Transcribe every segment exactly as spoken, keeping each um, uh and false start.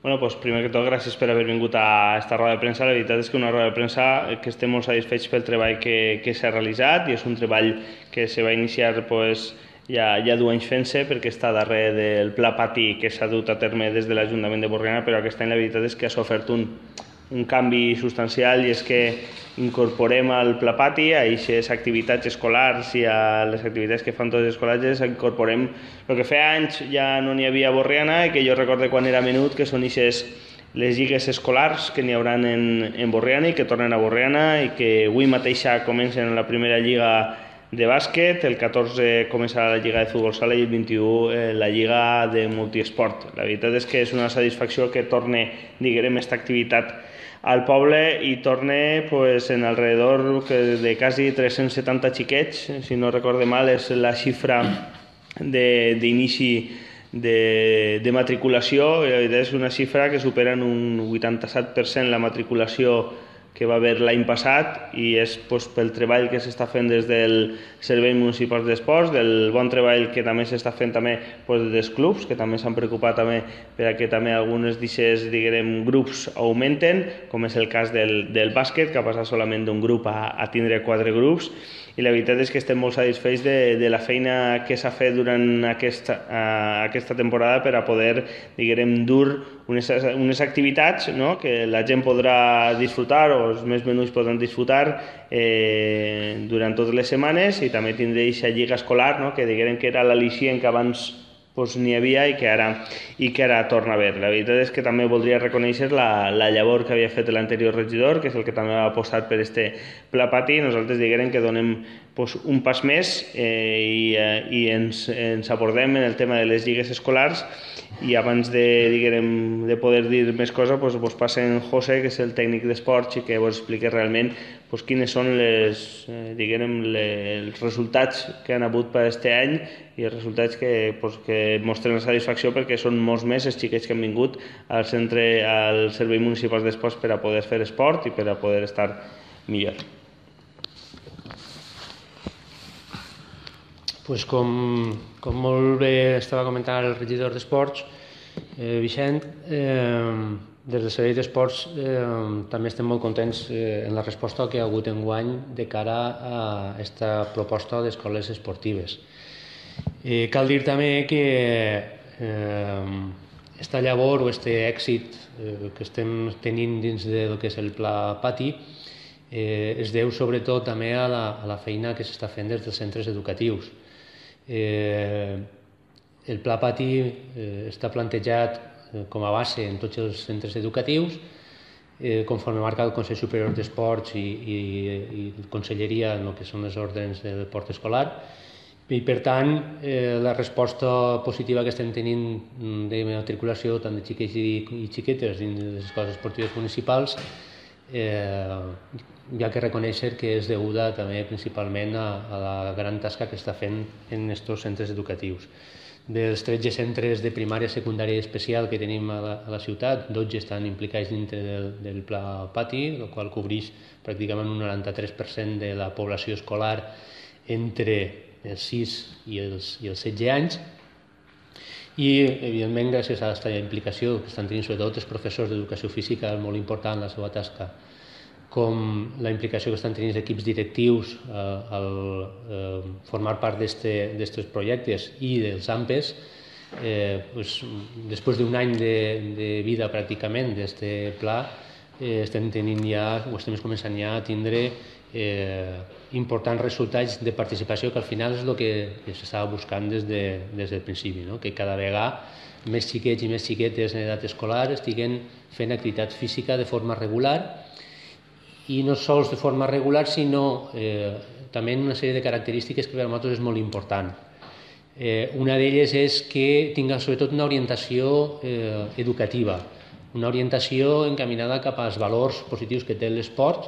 Bueno, pues primer que tot, gràcies per haver vingut a esta roda de premsa. La veritat és que una roda de premsa que estem molt satisfets pel treball que, que s'ha realitzat, i és un treball que se va iniciar pues, ja, ja duu anys fent-se, perquè està darrere del pla pati que s'ha dut a terme des de l'Ajuntament de Borriana, però aquest any la veritat és que ha sofert un, un canvi substancial, i és que incorporem al pla pati, a aquestes activitats escolars i a les activitats que fan tots els escolatges, incorporem el que fa anys ja no n'hi havia a Borriana i que jo recordo quan era menut, que són aquestes les lligues escolars que n'hi haurà en, en Borriana i que tornen a Borriana, i que avui mateixa comencen la primera lliga de bàsquet, el catorze començarà la lliga de futbol sala i el vint-i-u eh, la lliga de multiesport. La veritat és que és una satisfacció que torne, diguem, aquesta activitat al poble i torne pues, en alrededor de quasi tres-cents setanta xiquets, si no recorde mal, és la xifra d'inici de, de matriculació. La veritat és una xifra que supera en un vuitanta-set per cent la matriculació que va haver l'any passat, i és pues, pel treball que s'està fent des del Servei Municipal d'Esports, del bon treball que també s'està fent també pues, dels clubs, que també s'han preocupat també per a que també algunes d'aquests grups augmenten, com és el cas del, del bàsquet, que ha passat solament d'un grup a, a tindre quatre grups. I la veritat és que estem molt satisfets de, de la feina que s'ha fet durant aquesta, uh, aquesta temporada per a poder, diguem, dur unes, unes activitats, no?, que la gent podrà disfrutar, o els més menuts podran disfrutar eh, durant totes les setmanes, i també tindré aquesta lliga escolar, no?, que diguem que era l'al·licient que abans pues, n'hi havia i que, ara, i que ara torna a haver. La veritat és que també voldria reconèixer la, la llavor que havia fet l'anterior regidor, que és el que també ha apostat per este pla pati. Nosaltres diguem que donem pues, un pas més eh, i, eh, i ens, ens abordem en el tema de les lligues escolars, i abans de, diguem, de poder dir més coses, pues, pues passen José, que és el tècnic d'esports, i que vos expliqui realment pues, quines són les, eh, diguem, les, els resultats que han hagut per aquest any, i els resultats que, pues, que mostren la satisfacció, perquè són molts més els xiquets que han vingut al centre, al Servei Municipal d'Esports, per a poder fer esport i per a poder estar millor. Pues com, com molt bé estava comentant el regidor d'Esports, eh, Vicent, eh, des del Servei d'Esports eh, també estem molt contents eh, en la resposta que hi ha hagut enguany de cara a aquesta proposta d'escoles esportives. Eh, cal dir també que eh, esta llavor o este èxit eh, que estem tenint dins del que és el pla pati eh, es deu sobretot també a la, a la feina que s'està fent des dels centres educatius. Eh, el pla pati eh, està plantejat eh, com a base en tots els centres educatius, eh, conforme marca el Consell Superior d'Esports i, i, i Conselleria en el que són les ordres del port escolar, i per tant eh, la resposta positiva que estem tenint de matriculació tant de xiquets i, i xiquetes dins de les escoles esportives municipals eh, hi ha que reconèixer que és deguda també principalment a, a la gran tasca que està fent en aquests centres educatius. Dels tretze centres de primària, secundària i especial que tenim a la, a la ciutat, dotze estan implicats dintre del, del pla pati, el qual cobreix pràcticament un noranta-tres per cent de la població escolar entre els sis i els, i els setze anys, i evidentment gràcies a aquesta implicació que estan tenint sobretot els professors d'educació física, és molt important la seva tasca, com la implicació que estan tenint els equips directius eh, al eh, formar part d'aquests projectes i dels A M P E S, eh, pues, després d'un any de, de vida pràcticament d'aquest pla, eh, estem tenint ja, o estem començant ja a tindre eh, importants resultats de participació, que al final és el que, que s'estava buscant des, de, des del principi, no? Que cada vegada més xiquets i més xiquetes en edat escolar estiguen fent activitat física de forma regular, i no sols de forma regular, sinó eh, també en una sèrie de característiques que per a nosaltres és molt important. Eh, una d'elles és que tinga sobretot una orientació eh, educativa, una orientació encaminada cap als valors positius que té l'esport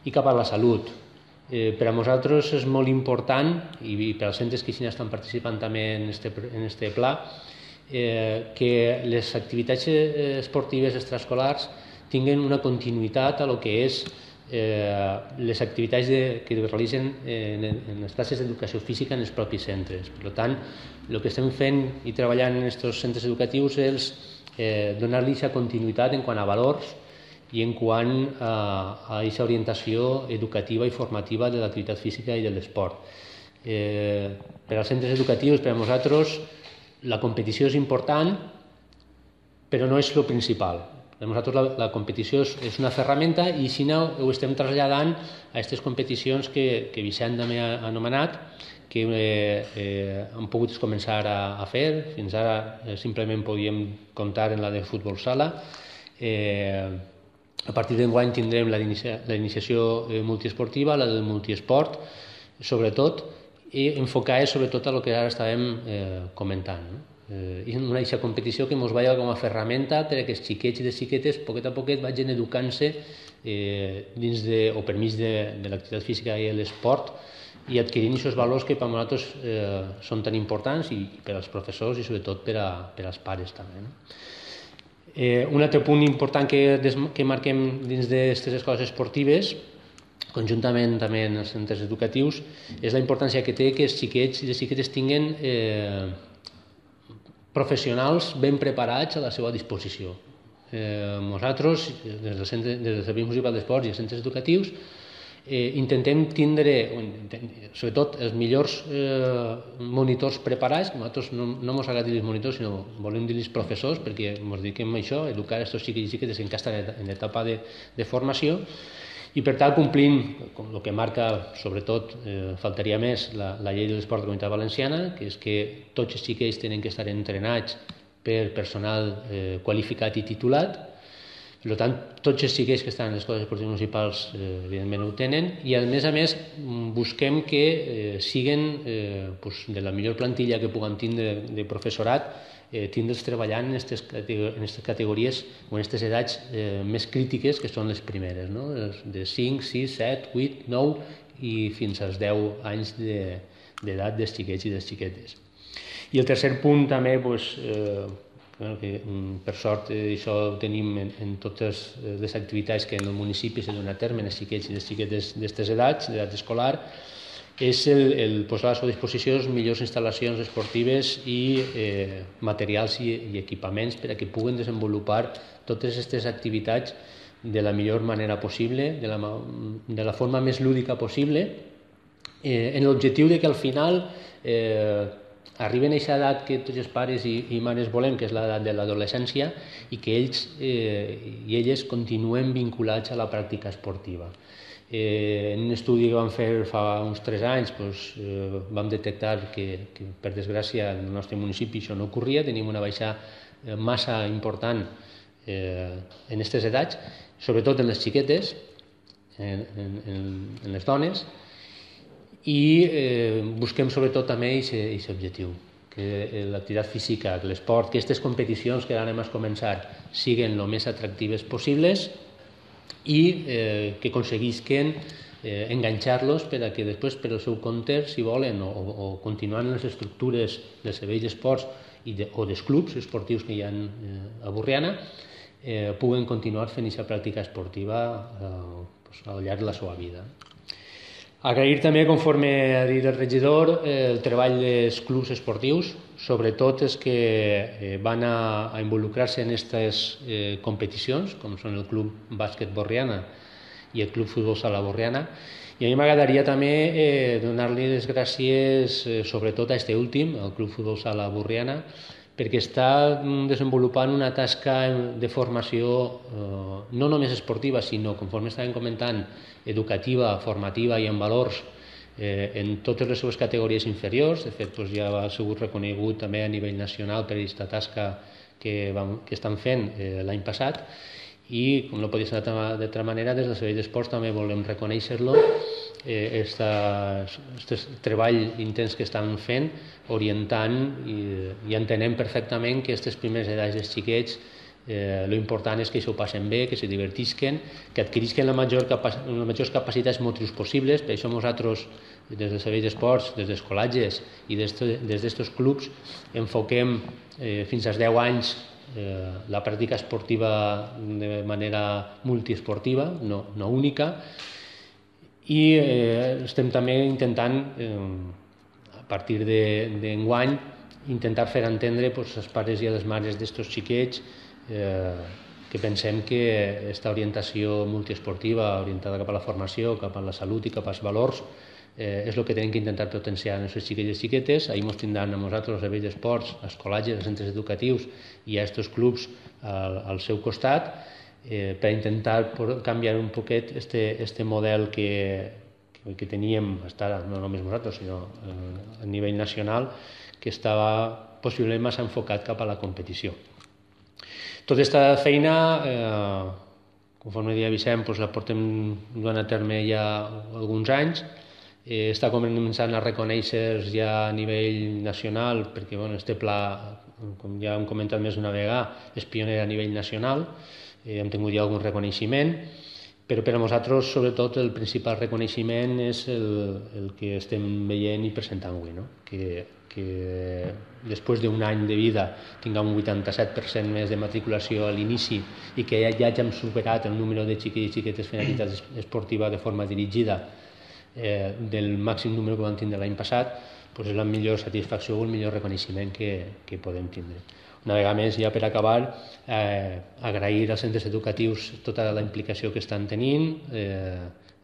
i cap a la salut. Eh, per a nosaltres és molt important, i per als centres que estan participant també en este, en este pla, eh, que les activitats esportives extraescolars tinguin una continuïtat a lo que és Eh, les activitats de, que es realitzen en, en les classes d'educació física en els propis centres. Per tant, el que estem fent i treballant en aquests centres educatius és eh, donar-li aquesta continuïtat en quant a valors i en quant a aquesta orientació educativa i formativa de l'activitat física i de l'esport. Eh, per als centres educatius, per a nosaltres, la competició és important, però no és el principal. Per nosaltres la, la competició és, és una ferramenta i si no ho estem traslladant a aquestes competicions que, que Vicent també ha anomenat, que eh, eh, hem pogut començar a, a fer. Fins ara eh, simplement podíem comptar en la de futbol sala. Eh, a partir d'enguany tindrem la d'iniciació eh, multiesportiva, la del multiesport, sobretot, i enfocar sobretot a el que ara estàvem eh, comentant, no? Eh, i una aquesta competició que ens vaya com a ferramenta perquè els xiquets i les xiquetes poquet a poquet vagin educant-se eh, dins de, o per mig de, de l'activitat física i l'esport i adquirint aquests valors que per a nosaltres eh, són tan importants i per als professors i sobretot per, a, per als pares també, no? Eh, un altre punt important que, des, que marquem dins d'aquestes escoles esportives conjuntament també en els centres educatius és la importància que té que els xiquets i les xiquetes tinguin eh, professionals ben preparats a la seva disposició. Eh, nosaltres, des del, centre, des del Servei Municipal d'Esports i els centres educatius, eh, intentem tindre, sobretot, els millors eh, monitors preparats, que nosaltres no, no ens agrada dir-los monitors, sinó volem dir-los professors, perquè ens dediquem a això, a educar aquests xiquets i xiquetes que encara estan en etapa de, de formació, i per tant complint com el que marca sobretot, eh, faltaria més, la, la llei de l'esport de la Comunitat Valenciana, que és que tots els xiquets tenen que estar entrenats per personal eh, qualificat i titulat. Per tant, tots els xiquets que estan en les escoles esportives municipals eh, evidentment ho tenen i a més a més busquem que eh, siguen eh, pues, de la millor plantilla que puguem tindre de professorat, eh, tindre'ls treballant en aquestes categories o en aquestes edats eh, més crítiques que són les primeres, no? De cinc, sis, set, vuit, nou i fins als deu anys d'edat dels xiquets i dels xiquetes. I el tercer punt també, pues, eh, que per sort eh, això ho tenim en, en totes les activitats que en el municipi se donen a terme en els xiquets i les xiquetes d'aquestes edats, d'edat escolar, és el, el posar a la seva disposició les millors instal·lacions esportives i eh, materials i, i equipaments per a que puguen desenvolupar totes aquestes activitats de la millor manera possible, de la, de la forma més lúdica possible, eh, en l'objectiu de que al final eh, arriben a aquesta edat que tots els pares i, i mares volem, que és l'edat de l'adolescència, i que ells eh, i elles continuen vinculats a la pràctica esportiva. Eh, en un estudi que vam fer fa uns tres anys doncs, eh, vam detectar que, que per desgràcia en el nostre municipi això no ocorria, tenim una baixa eh, massa important eh, en aquestes edats, sobretot en les xiquetes, en, en, en les dones, i eh, busquem sobretot també aquest objectiu, que l'activitat física, que l'esport, que aquestes competicions que ara anem a començar siguin el més atractives possibles i eh, que aconseguisquen eh, enganxar-los per a que després per al seu compte, si volen, o, o continuant en les estructures dels serveis d'esports i de, o dels clubs esportius que hi ha eh, a Borriana, eh, puguen continuar fent aquesta pràctica esportiva eh, pues, al llarg de la seva vida. Agrair també, conforme ha dit el regidor, eh, el treball dels clubs esportius, sobretot els que eh, van a, a involucrar-se en aquestes eh, competicions, com són el Club Bàsquet Borriana i el Club Futbol Sala Borriana. I a mi m'agradaria també eh, donar-li les gràcies eh, sobretot a este últim, el Club Futbol Sala Borriana, perquè està desenvolupant una tasca de formació eh, no només esportiva, sinó, conforme estàvem comentant, educativa, formativa i en valors eh, en totes les seves categories inferiors. De fet, doncs, ja ha sigut reconegut també a nivell nacional per aquesta tasca que, vam, que estan fent eh, l'any passat i, com no podia ser d'altra manera, des del Servei d'Esports també volem reconèixer-lo, eh, aquest treball intens que estan fent, orientant i, i entenem perfectament que aquestes primeres edats dels xiquets Eh, lo important és que s'ho passen bé, que se divertisquen, que adquirisquen la major capac les majors capacitats motrius possibles. Per això nosaltres, des del Servei d'Esports, des dels col·legis i des d'aquests clubs, enfoquem eh, fins als deu anys eh, la pràctica esportiva de manera multiesportiva, no, no única, i eh, estem també intentant, eh, a partir d'enguany, intentar fer entendre pues, als pares i a les mares d'estos xiquets que pensem que aquesta orientació multiesportiva, orientada cap a la formació, cap a la salut i cap als valors, és el que tenim que intentar potenciar en els xiquets i xiquetes. Ahir ens tindran a nosaltres, els serveis d'esports, els col·legis, els centres educatius i a aquests clubs al seu costat, per intentar canviar un poquet este model que que teníem fins ara, no només nosaltres, sinó a nivell nacional, que estava possiblement massa enfocat cap a la competició. Tota aquesta feina, conforme deia Vicent, la portem duent a terme ja alguns anys, està començant a reconèixer ja a nivell nacional, perquè este pla, com ja hem comentat més d'una vegada, és pioner a nivell nacional, hem tingut ja algun reconeixement, però per a nosaltres, sobretot, el principal reconeixement és el que estem veient i presentant avui, que després d'un any de vida tinguem un vuitanta-set per cent més de matriculació a l'inici i que ja hàgim superat el número de xiquets i xiquetes fent activitat esportiva de forma dirigida del màxim número que vam tindre l'any passat, és la millor satisfacció o el millor reconeixement que podem tindre. Una vegada més, ja per acabar, agrair als centres educatius tota la implicació que estan tenint,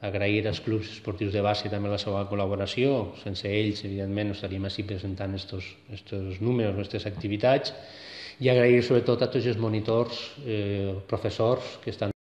agrair als clubs esportius de base també la seva col·laboració. Sense ells, evidentment, no estaríem així presentant aquests números, aquestes activitats, i agrair sobretot a tots els monitors, professors que estan